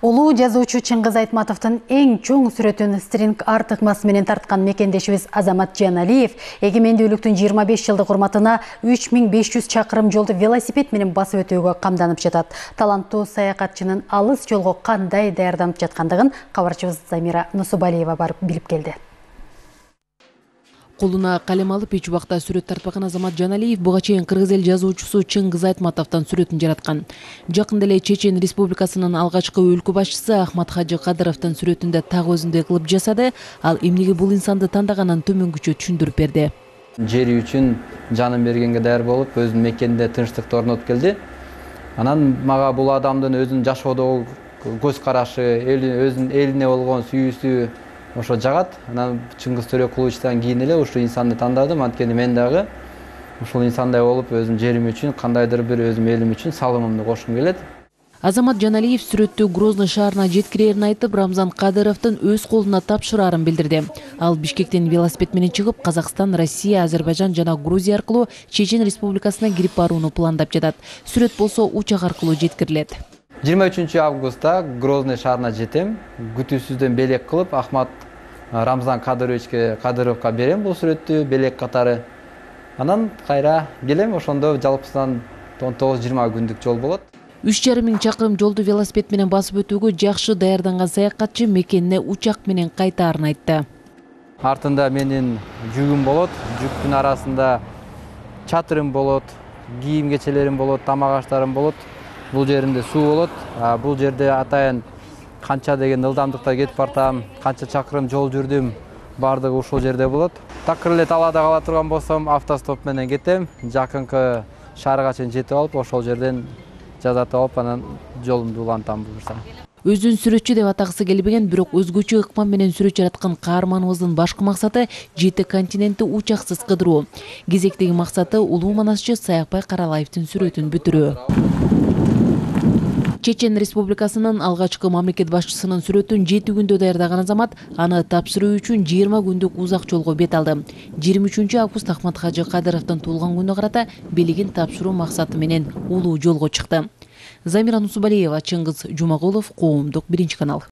Улуу жазуучу Чыңгыз Айтматовдун эң чоң сүрөтүн стринг арт ыкмасы менен тарткан мекендешибиз Азамат Жаналиев эгемендүүлүктүн 25 жылдык урматына 3500 чакырым жолду велосипед менен басып өтүүгө камданып жатат. Таланттуу саякатчынын алыс жолго кандай даярданып жаткандыгын кабарчыбыз Замира Нусубалиева барып билип келди. Колуна калем алып эч убакта сүрөт тартпаган Азамат Жаналиев буга чейин кыргыз эл жазуучусу Чыңгыз Айтматовдон сүрөтүн жараткан. Жакында эле Чечен Республикасынын алгачкы өлкө башчысы Ахмат Хажы Кадыровдун сүрөтүндө так өзүндөй кылып жасады. Ал эмнеге бул инсанды тандаганын төмөнгүчө түшүндүрүп берди. Жери үчүн жанын бергенге даяр болуп, өзүнүн мекенинде тынчтыкты орнотуп келди. Анан мага бул адамдын өзүнүн жашоодогу көз карашы, өзүнүн элине болгон сүйүүсү ошо жагат. Анан Чыңгыз Төрөкуловичтан кийин эле ушул инсанды тандадым. Анткени мен дагы ушул инсандай болуп, өзүм жерим үчүн, кандайдыр бир өзүм элим үчүн салымымды кошкум келет. Азамат Жаналиев сүрөттү Грозный шаарына жеткирерин айтып, Рамзан Кадыровдун өз колуна тапшырарын билдирди. Ал Бишкектен велосипед менен чыгып, Казакстан, Россия, Азербайжан жана Грузия аркылуу Чечен Республикасына кирип барууну пландап жатат. Сүрөт болсо учак аркылуу жеткирилет. 23 августта Грозный шаарына жетем. Күтүүсүздөн белек кылып, Ахмат Рамзан Кадыровго берем бул сүрөттү белек катары. Анан кайра келем, ошондо жалпысынан 19-20 күндүк жол болот. 3,5 чакырым жолду велосипед менен басып өтүүгө жакшы даярданган саякатчы мекенине учак менен кайтаарын айтты. Артында менин жүгүм болот, жүктүн арасында чатырым болот, кийим кечелерим болот, тамак аштарым болот. Бул жеримде суу болот. Бул жерде атайын канча деген ылдамдыкта кетип бартам, канча чакырым жол жүрдүм, бардыгы ушул жерде болот. Такыр эле талаада кала турган болсом, автостоп менен кетем. Жакынкы шаарга чейин жетип алып, ошол жерден жазатып алып, анан жолумду улантам буюрса. Өзүн сүрөтчү деп атагысы келбеген, бирок өзгөчө ыкман менен сүрөт жараткан каарманыбыздын башкы максаты 7 континентти учаксыз кыдыруу. Кезектеги максаты улуу манасчы Саякбай Каралаевдин сүрөтүн бүтүрүү. Чечен Республикасынын алгачкы мамлекет башчысынын сүрөтүн 7 күндө даярдаган Азамат аны тапшыруу үчүн 20 күндүк узак жолго бет алды. 23 август Ахмат Хажы Кадыровдун туулган күнүнө карата белегин тапшыруу максаты менен улуу жолго чыкты. Замира Нусубалиева, Чыңгыз Жумагулов, Коомдук, 1 канал.